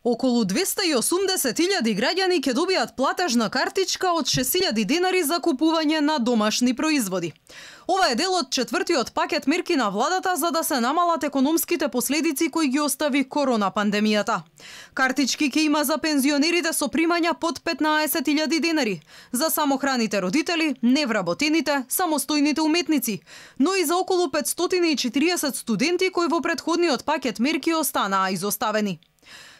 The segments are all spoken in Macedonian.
Околу 280.000 граѓани ќе добијат платежна картичка од 6.000 денари за купување на домашни производи. Ова е дел од четвртиот пакет мерки на владата за да се намалат економските последици кои ги остави корона пандемијата. Картички ќе има за пензионерите со примања под 15.000 денари, за самохраните родители, невработените, самостојните уметници, но и за околу 540 студенти кои во претходниот пакет мерки останаа изоставени.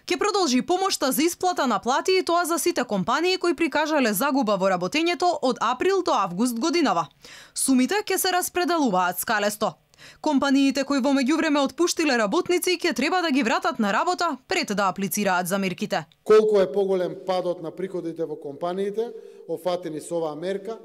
Ке продолжи помошта за исплата на плати и тоа за сите компании кои прикажале загуба во работењето од април до август годинава. Сумите ќе се распределуваат скалесто. Компаниите кои во меѓувреме отпуштиле работници ќе треба да ги вратат на работа пред да аплицираат за мерките. Колку е поголем падот на приходите во компаниите, офатени со оваа мерка,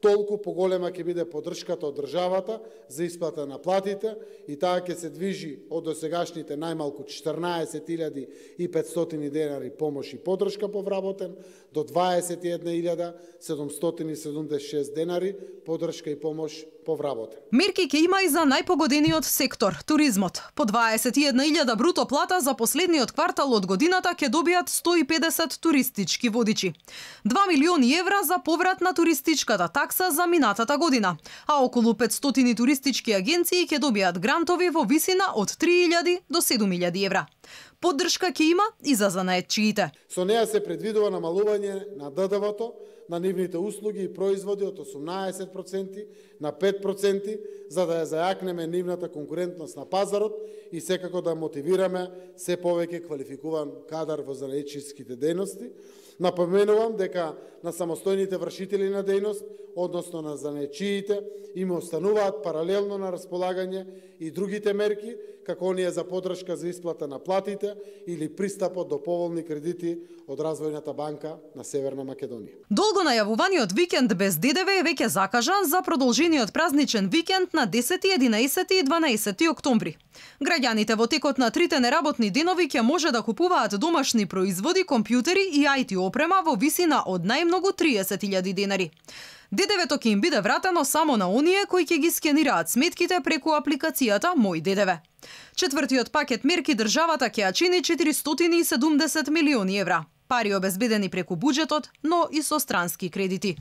толку поголема ќе биде поддршката од државата за исплата на платите и таа ќе се движи од досегашните најмалку 14.500 денари помош и поддршка по вработен до 21.776 денари поддршка и помош по вработен. Мерки ќе има и за најпогодениот сектор, туризмот. По 21.000 бруто плата за последниот квартал од годината ќе добијат 150 туристички водичи. 2 милиони евра за поврат на туристичката такса за минатата година, а околу 500 туристички агенции ќе добијат грантови во висина од 3.000 до 7.000 евра. Поддршка ќе има и за занаетчиите. Со неа се предвидува намалување на ДДВ-то на нивните услуги и производи од 18% на 5%, за да ја зајакнеме нивната конкурентност на пазарот и секако да мотивираме се повеќе квалификуван кадар во занаетчиските дејности. Напоменувам дека на самостојните вршители на дејност, односно на занаетчиите, им остануваат паралелно на располагање и другите мерки, како оние за поддршка за исплата на платите или пристапот до поволни кредити од Развојната банка на Северна Македонија. Долго најавуваниот викенд без ДДВ е веќе закажан за продолжениот празничен викенд на 10, 11 и 12 октомври. Граѓаните во текот на трите неработни денови ќе може да купуваат домашни производи, компјутери и IT опрема во висина од најмногу 30.000 денари. ДДВ-то ќе им биде вратено само на оние кои ќе ги скенираат сметките преку апликацијата Мој ДДВ. Четвртиот пакет мерки државата ќе ја чини 470 милиони евра. Пари обезбедени преку буџетот, но и со странски кредити.